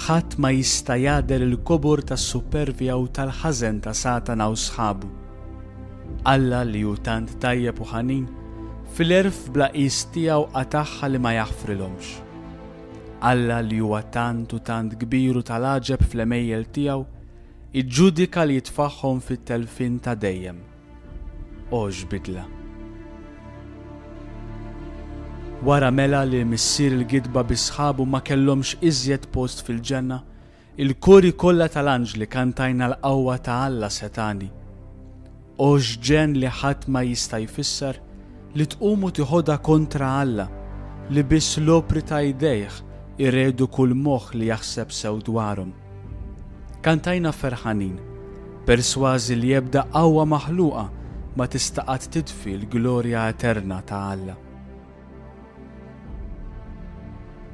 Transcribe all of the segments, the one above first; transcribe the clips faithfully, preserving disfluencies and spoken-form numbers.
Ħadd ma jista' jagħder il-kobor tas-supervja u tal-ħażen ta' Satana u sħabu. Alla li hu tant tajjeb u ħanin, fil-għerf bla qies tiegħu qatagħha li ma jaħfrilhomx. Alla li huwa tant u tant kbir u tal-għaġeb fl-għemejjel tiegħu, iġġudika li jitfagħhom fit-telfien ta' dejjem. O x'bidla! Wara mela li missier il-gidba bi sħabu ma kellhomx iżjed post fil-ġenna, il-kori kollha tal-anġli kantajna l-qawwa ta' Alla setgħani. O x'ġenn li ħadd ma jista' jfisser li tqum u tiħodha kontra Alla, li biss l-opri ta' jdejh iredu kull moħħ li jaħseb sew dwarhom. Kantajna ferħanin, persważi li ebda qawwa maħluqa ma tista' qatt titfi l-glorja eterna ta' Alla.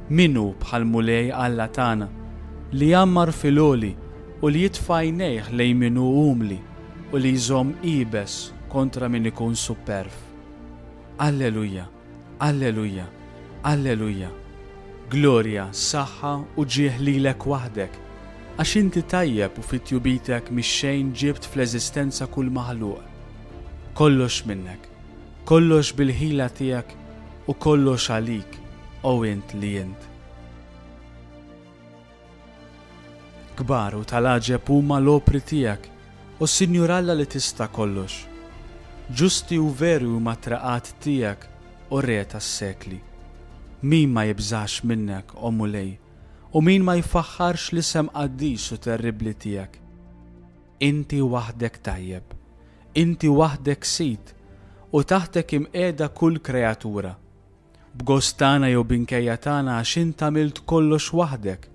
Min hu bħall-Mulej Alla tagħna, li jgħammar fil-għoli u li jitfa' għajnejh lejn min hu umli u li jżomm iebes kontra min ikun supperv. Alleluja, alleluja, alleluja. Glorja, saħħa u ġieħ lilek waħdek, għax inti tajjeb u fi tjubitek mix-xejn ġibt fl-eżistenza kull maħluq. Kollox minnek, kollox bil-ħila tiegħek u kollox għalik, o int li int. Kbar u tal-għaġeb huma l-opri tiegħek, o Sinjur Alla li tista' kollox. Ġusti u veri huma t-traqat tiegħek, o Re tas-sekli. Min ma jibżax minnek, o Mulej, u min ma jfaħħarx l-isem qaddis u terribbli tiegħek? Inti waħdek tajjeb, inti waħdek sid, u taħtek imqiegħda kull kreatura. B'gost tagħna jew b'inkejja tagħna għax int għamilt kollox waħdek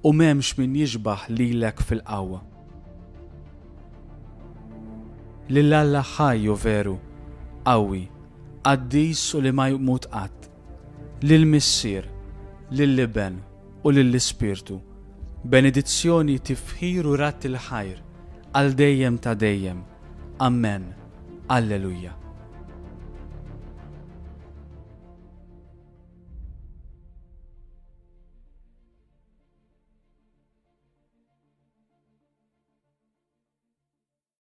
u m'hemmx min jixbaħ lilek fil-qawwa. Lil Alla ħaj u veru, qawwi, qaddis u li ma jmut qatt, lil Missier, lill-Iben u lill-Ispirtu, benedizzjoni, tifħir u radd il-ħajr għal dejjem ta' dejjem. Amen. Alleluja.